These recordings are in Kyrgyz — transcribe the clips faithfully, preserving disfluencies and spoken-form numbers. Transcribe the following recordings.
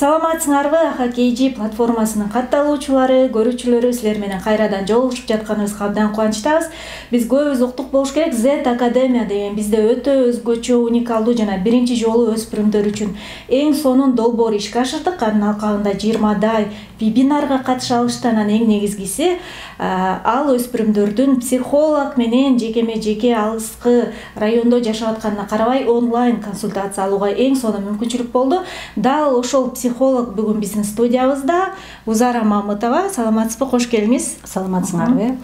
Саламатсыңарбы, Хоккейчи платформасынын катталуучулары, көрүүчүлөрү, силер менен кайрадан жолугушуп жатканыбызга абдан кубанычтабыз. Биз көбүбүз уктук болуш керек. Z Академия деген бизде өтө өзгөчө, уникалдуу жана биринчи жолу өспүрүмдөр үчүн эң сонун долбоор ишке ашырдык. Анын алкагында жыйырмадай вебинарга катыша алышты. Анан эң негизгиси ал өспүрүмдөрдүн психолог менен жекеме жеке алыскы райондо жашап атканына карабай онлайн консультация алууга эң сонун мүмкүнчүлүк болду. Дал ошол психолог бүгүн биздин студиябызда. Узара Мамытова, саламатсызбы, кош келиңиз. Саламатсыңарбы?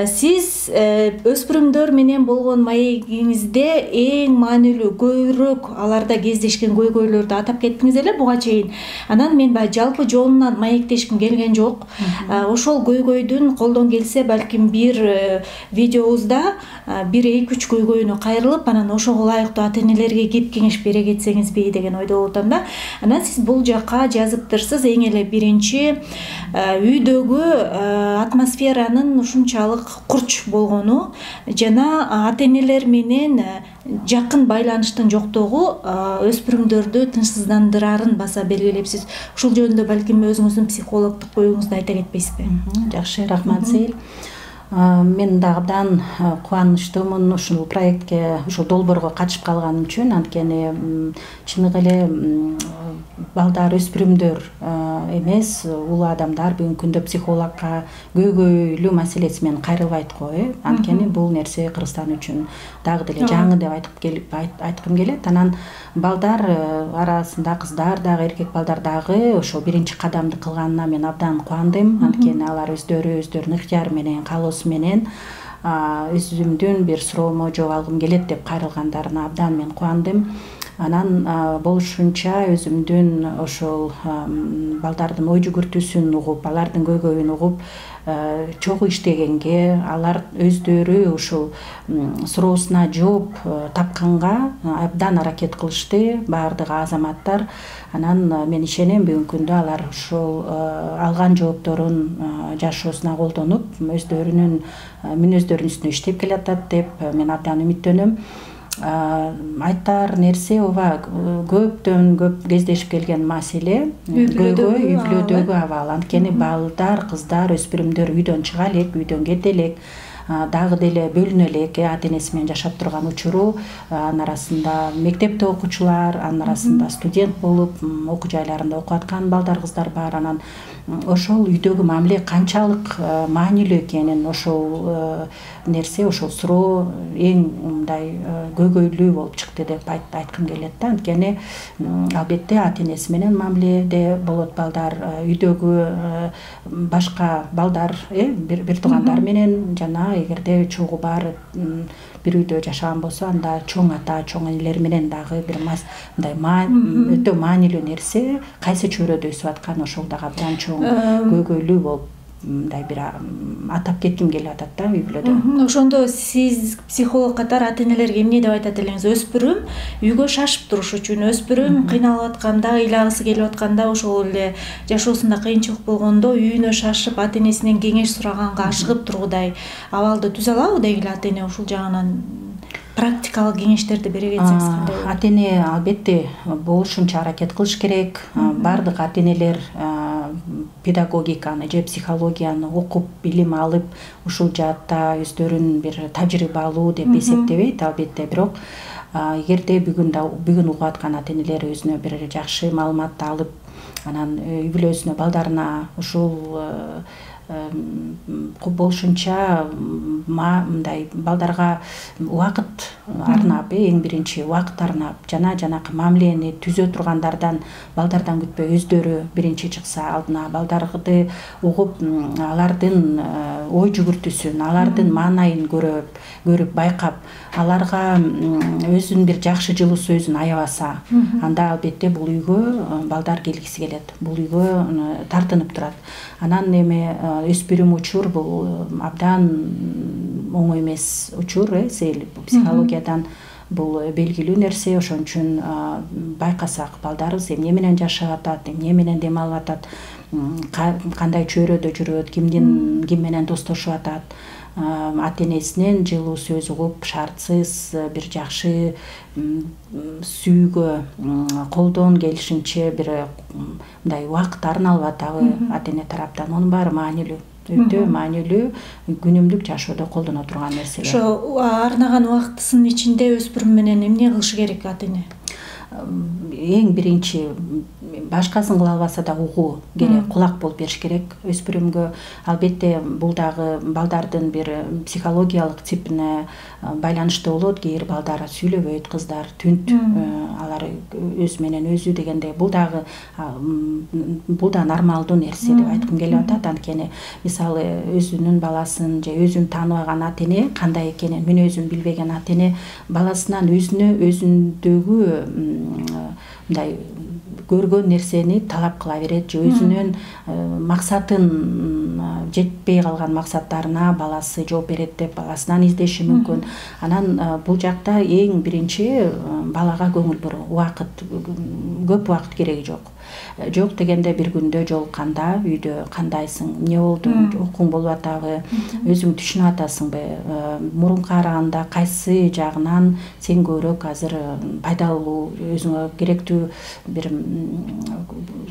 Сиз өспүрүмдөр менен болгон маегиңизде эң маанилүү, көбүрөөк аларда кездешкен көйгөйлөрдү атап кеттиңиз эле буга чейин. Анан мен баягы жалпы жонунан маектешким келген жок. Ошол көйгөйдүн колдон келсе балким бир видеобузда бир эки үч көйгөйүнө кайрылып, анан ошого ылайыктуу ата-энелерге кеп кеңеш бере кетсеңизби деген ойдо болуп атам да. Анан сиз бул жакка жазыптырсыз. Эң эле биринчи үйдөгү атмосферанын ушунчалык курч болгону жана ата-энелер менен жакын байланыштын жоктугу өспүрүмдөрдү тынчсыздандырарын баса белгилепсиз. Ушул жөнүндө балким өзүңүздүн психологдук оюңузду айта кетпейсизби? Жакшы, рахмат Сейил. Мен да абдан кубанычтуумун ушул проектке, ушул долбоорго катышып калганым үчүн. Анткени чыныгы эле балдар, өспүрүмдөр эмес, улуу адамдар бүгүнкү күндө психологко көйгөйлүү маселеси менен кайрылбайт го, э. Анткени бул нерсе Кыргызстан үчүн дагы деле жаңы деп айтып келип айткым келет. Анан балдар арасында кыздар дагы, эркек балдар дагы ошол биринчи кадамды кылганына мен абдан кубандым. Анткени алар өздөрү өздөрүнүн ыктыяры менен, каалоосу менен өзүмдүн бир суроомо жооп алгым келет деп кайрылгандарына абдан мен кубандым. Анан болушунча өзүмдүн ошол балдардын ой жүгүртүүсүн угуп, алардын көйгөйүн угуп, чогуу иштегенге, алар өздөрү ушул суроосуна жооп тапканга абдан аракет кылышты баардык азаматтар. Анан мен ишенем, бүгүнкү күндө алар ушул алган жоопторун жашоосуна колдонуп, өздөрүнүн мүнөздөрүнүн үстүнө иштеп келатат деп мен абдан үмүттөнөм. Айтар нерсе ооба көптөн көп кездешип келген маселе, көйгөй, үй бүлөдөгү абал. Анткени балдар, кыздар, өспүрүмдөр үйдөн чыга элек, үйдөн кете элек, дагы деле бөлүнө элек, ата-энеси менен жашап турган учуру, анын арасында мектепте окуучулар, анын арасында студент болуп, окуу жайларында окуп аткан балдар, кыздар бар. Анан ошол үйдөгү мамиле канчалык маанилүү экенин, ошол нерсе, ошол суроо эң мындай көйгөйлүү болуп чыкты деп айткым келет да. Анткени албетте ата-энеси менен мамиледе болот балдар, үйдөгү башка балдар, э, бир туугандар менен, жана эгерде чогуу бар бир үйдө жашаган болсо, анда чоң ата, чоң энелер менен дагы бир мындай өтө маанилүү нерсе, кайсы чөйрөдө өсүп аткан, ошол дагы абдан чоң көйгөйлүү болуп мындай бир атап кетким келип атат да үй бүлөдө. Ошондо сиз психолог катары ата-энелерге эмне деп айтат элеңиз? Өспүрүм үйгө шашып туруш үчүн, өспүрүм кыйналып атканда, ыйлагысы келип атканда, ошол эле жашоосунда кыйынчылык болгондо үйүнө шашып, ата-энесинен кеңеш сураганга ашыгып тургудай абалды түзө алабы дегиле ата-эне? Ушул жагынан практикалык кеңештерди бере кетсеңиз кандай болот? Ата-эне албетте болушунча аракет кылыш керек. Бардык ата-энелер педагогиканы же психологияны окуп, билим алып, ушул жаатта өздөрүн бир тажрыйба алуу деп эсептебейт албетте. Бирок эгерде бүгүн да бүгүн угуп аткан ата-энелер өзүнө бир жакшы маалыматты алып, анан үй бүлөсүнө, балдарына ушул болушунча мындай балдарга убакыт арнап, эң биринчи убакыт арнап, жана жанакы мамилени түзө тургандардан, балдардан күтпөй өздөрү биринчи чыкса алдына, балдарды угуп, алардын ой жүгүртүүсүн, алардын маанайын көрүп, көрүп байкап, аларга өзүнүн бир жакшы жылуу сөзүн аябаса, анда албетте бул үйгө балдар келгиси келет, бул үйгө тартынып турат. Анан эми өспүрүм учур бул абдан оңой эмес учур, э, Сейил. Психологиядан бул белгилүү нерсе, ошон үчүн байкасак, балдарыбыз эмне менен жашап атат, эмне менен дем алып атат, кандай чөйрөдө жүрөт, кимдин ким менен достошуп атат, ата энесинен жылуу сөз угуп, шартсыз бир жакшы сүйүүгө колдон келишинче бир мындай убакыт арналып атабы ата эне тараптан, анын баары маанилүү, өтө маанилүү, күнүмдүк жашоодо колдоно турган нерселер. Ошо арнаган убактысынын ичинде өспүрүм менен эмне кылышы керек ата эне? Эң биринчи башкасын кыла албаса да угуу керек, кулак болуп бериш керек өспүрүмгө. Албетте бул дагы балдардын бир психологиялык типине байланыштуу болот. Кээ бир балдар сүйлөбөйт, кыздар түнт, алар өзү менен өзү дегендей, бул дагы бул да нормалдуу нерсе деп айткым келип атат. Анткени мисалы өзүнүн баласын же өзүн тааныбаган ата эне кандай экенин, мүнөзүн билбеген ата эне баласынан өзүнө өзүндөгү мындай көргөн нерсени талап кыла берет же өзүнүн максатын, жетпей калган максаттарына баласы жооп берет деп баласынан издеши мүмкүн. Анан бул жакта эң биринчи балага көңүл буруу, убакыт, көп убакыт кереги жок. Жок дегенде бир күндө жолукканда үйдө кандайсың, эмне болду, окууң болуп атабы, өзүң түшүнүп атасыңбы, мурункуга караганда кайсы жагынан сен көбүрөөк азыр пайдалуу, өзүңө керектүү бир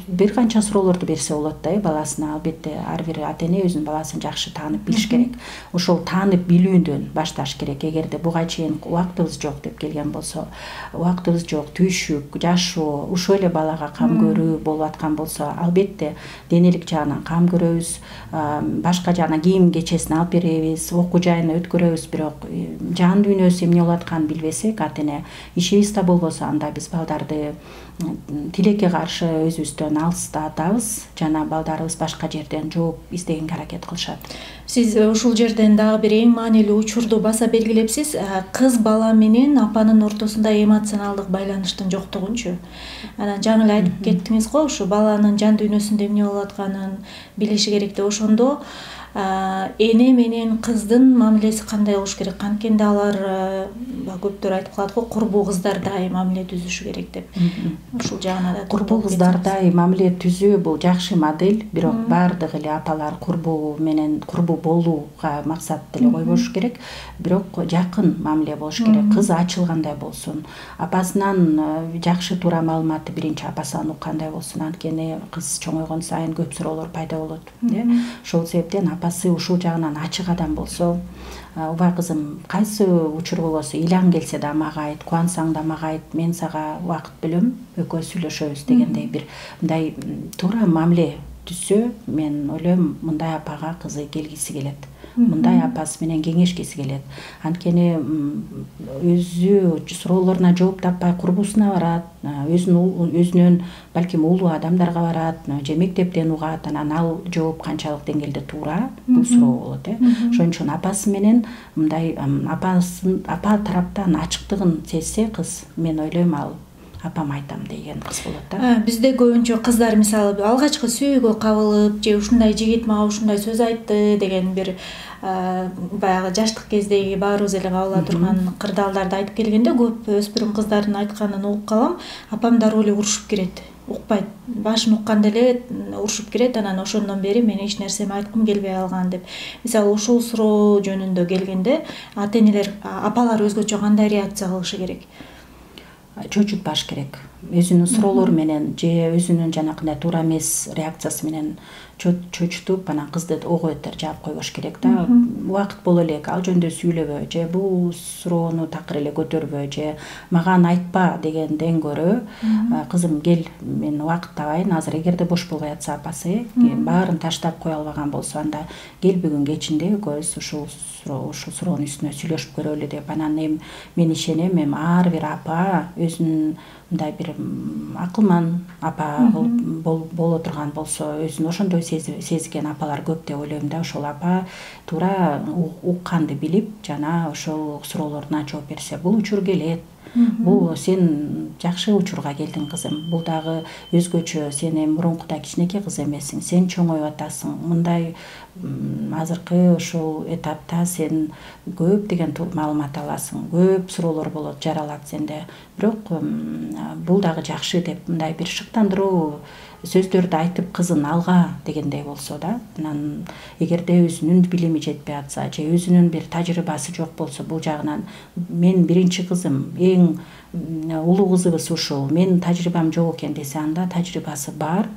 бир канча суроолорду берсе болот да баласына. Албетте ар бир ата эне өзүнүн баласын жакшы таанып билиш керек. Ошол таанып билүүдөн башташ керек. Эгерде буга чейин убактыбыз жок деп келген болсо, убактыбыз жок, түйшүк, жашоо, ушул эле балага кам көрүү болуп аткан болсо, албетте денелик жагынан кам көрөбүз, башка жагынан кийим кечесин алып беребиз, окуу жайына өткөрөбүз, бирок жан дүйнөсү эмне болуп атканын билбесек, ата эне ишибиз да болбосо, анда биз балдарды тилекке каршы өзүбүздөн алыстатабыз, жана балдарыбыз башка жерден жооп издегенге аракет кылышат. Сиз ушул жерден дагы бир эң маанилүү учурду баса белгилепсиз. Кыз бала менен апанын ортосунда эмоционалдык байланыштын жоктугунчу. Анан жаңы эле айтып кеттиңиз го, ушу баланын жан дүйнөсүндө эмне болуп атканын билиши керек деп. Ошондо эне менен кыздын мамилеси кандай болуш керек? Анткенде алар көптөр айтып калат го, курбу кыздардай мамиле түзүшү керек деп. Ушул жагына да курбу кыздардай мамиле түзүү бул жакшы модель, бирок баардык эле апалар курбу менен курбу болууга максат деле койбош керек, бирок жакын мамиле болуш керек. Кыз ачылгандай болсун, апасынан жакшы туура маалыматты биринчи апасынан уккандай болсун. Анткени кыз чоңойгон сайын көп суроолор пайда болот. Ошол себептен апасы ушул жагынан ачык адам болсо, убай кызым, кайсы учур болосу ыйлаң келсе да мага айт, кубансаң да мага айт, мен сага убакыт бөлөм, экөөбүз сүйлөшөбүз дегендей бир мындай туура мамиле түзсө, мен ойлойм мындай апага кызы келгиси келет, мындай апасы менен кеңешкиси келет. Анткени өзү суроолоруна жооп таппай курбусуна барат, өзүнүн балким улуу адамдарга барат, же мектептен угат, анан ал жооп канчалык деңгээлде туура, бул суроо болот. Ошон үчүн апасы менен мындай апасын, апа тараптан ачыктыгын сезсе кыз, мен ойлойм ал апам айтам деген кыз болот да. Бизде көбүнчө кыздар мисалы алгачкы сүйүүгө кабылып, же ушундай жигит мага ушундай сөз айтты деген бир баягы жаштык кездеги баарыбыз эле кабыла турган кырдаалдарды айтып келгенде, көп өспүрүм кыздардын айтканын угуп калам, апам дароо эле урушуп кирет. Укпайт, башын укканда эле урушуп кирет, анан ошондон бери мен эч нерсеми айткым келбей калган деп. Мисалы ушул суроо жөнүндө келгенде ата энелер, апалар өзгөчө кандай реакция кылышы керек? Чочутпаш керек. Өзүнүн суроолору менен же өзүнүн жанакындай туура эмес реакциясы менен чочутуп, анан кызды ого бетер жаап койбош керек да. Убакыт боло элек, ал жөнүндө сүйлөбө, же бул суроону такыр эле көтөрбө, же мага айтпа дегенден көрө, кызым кел, мен убакыт табайын, азыр эгерде бош болбой атса апасы, баарын таштап кое албаган болсо, анда кел бүгүн кечинде экөөбүз ушул ушул суроонун үстүнө сүйлөшүп көрөлү деп. Анан эми мен ишенем, эми ар бир апа өзүнүн мындай бир акылман апа боло турган болсо, өзүн ошондой сезген апалар көп деп ойлойм да. Ошол апа туура укканды билип, жана ошол суроолоруна жооп берсе, бул учур келет. Бул сен жакшы учурга келдиң кызым. Бул дагы өзгөчө, сен эми мурункудай кичинекей кыз эмессиң, сен чоңоюп атасың. Мындай азыркы ошол этапта сен көп деген маалымат аласың, көп суроолор болот, жаралат сенде. Бирок бул дагы жакшы деп мындай бир шыктандыруу сөздөрдү айтып кызын алга дегендей болсо да, анан эгерде өзүнүн билими жетпей атса же өзүнүн бир тажрыйбасы жок болсо, бул жагынан мен биринчи кызым, эң улуу кызыбыз ушул, менин тажрыйбам жок экен десе, анда тажрыйбасы бар,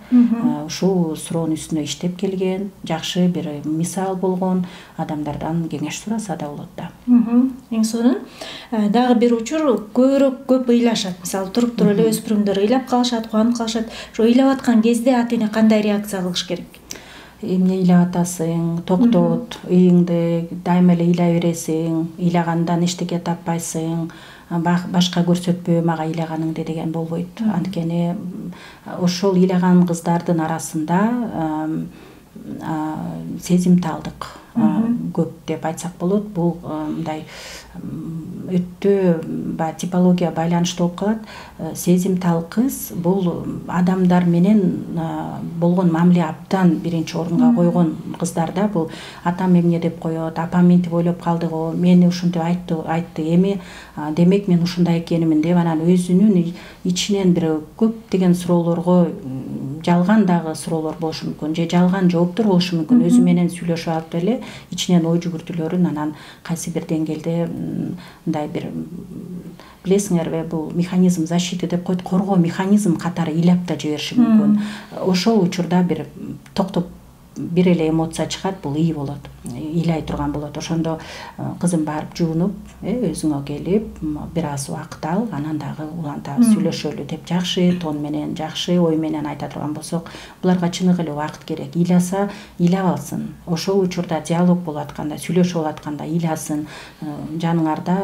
ушул суроонун үстүнө иштеп келген, жакшы бир мисал болгон адамдардан кеңеш сураса да болот да. Эң сонун дагы бир учур көбүрөөк көп ыйлашат. Мисалы туруп туруп эле өспүрүмдөр ыйлап калышат, кубанып калышат. Ошо ыйлап аткан кезде ата эне кандай реакция кылыш керек? Эмне ыйлап атасың, токтот, ыйыңды дайыма эле ыйлай бересиң, ыйлагандан эчтеке таппайсың, башка көрсөтпө мага ыйлаганыңды деген болбойт. Анткени ошол ыйлаган кыздардын арасында сезимталдык көп деп айтсак болот. Бул мындай өтө баягы типология байланыштуу болуп калат. Сезимтал кыз бул адамдар менен болгон мамиле абдан биринчи орунга койгон кыздар да. Бул атам эмне деп коет, апам мынтип ойлоп калды го, мени ушинтип айтты, айтты, эми демек мен ушундай экенимин деп, анан өзүнүн ичинен бир көптөгөн суроолорго жалган дагы суроолор болушу мүмкүн, же жалган жооптор болушу мүмкүн. Өзү менен сүйлөшүп алып эле ичинен ой жүгүртүүлөрүн анан кайсы бир деңгээлде мындай бир, билесиңерби, бул механизм защиты деп коет, коргоо механизм катары ыйлап да жибериши мүмкүн. Ошол учурда бир токтоп бир эле эмоция чыгат, бул ый болот, ыйлай турган болот. Ошондо кызым барып жуунуп, өзүңө келип, бир аз убакыт ал, анан дагы улантабыз, сүйлөшөлү деп жакшы тон менен, жакшы ой менен айта турган болсок, буларга чыныгы эле убакыт керек. Ыйласа, ыйлап алсын. Ошол учурда диалог болуп атканда, сүйлөшүп атканда ыйласын. Жаныңарда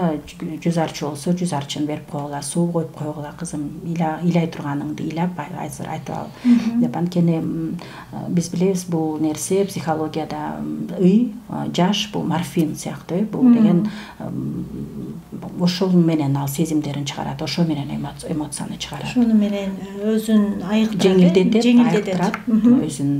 жүз арчы болсо, жүз арчын берип койгула, суу коюп койгула, кызым, ыйлай турганыңды ыйлап азыр айтып ал деп. Анткени биз билебиз, бул нерсе психологияда ый, жаш бул морфин сыяктуу, бул деген ошол менен ал сезимдерин чыгарат, ошо менен эмоцияны чыгарат. Ошону менен өзүн айыктырат, жеңилдетет, өзүн.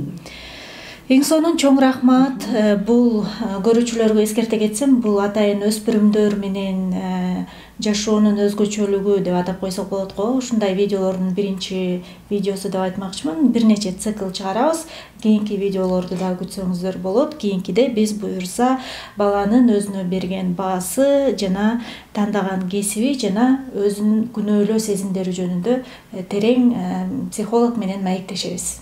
Эң сонун чоң рахмат. Бул көрүүчүлөргө эскерте кетсем, бул атайын өспүрүмдөр менен жашоонун өзгөчөлүгү деп атап койсок болот го. Ушундай видеолордун биринчи видеосу деп айтмакчымын. Бир нече цикл чыгарабыз. Кийинки видеолорду дагы күтсөңүздөр болот. Кийинкиде биз буюрса баланын өзүнө берген баасы жана тандаган кесиби жана өзүнүн күнөөлөө сезимдери жөнүндө терең психолог менен маектешебиз.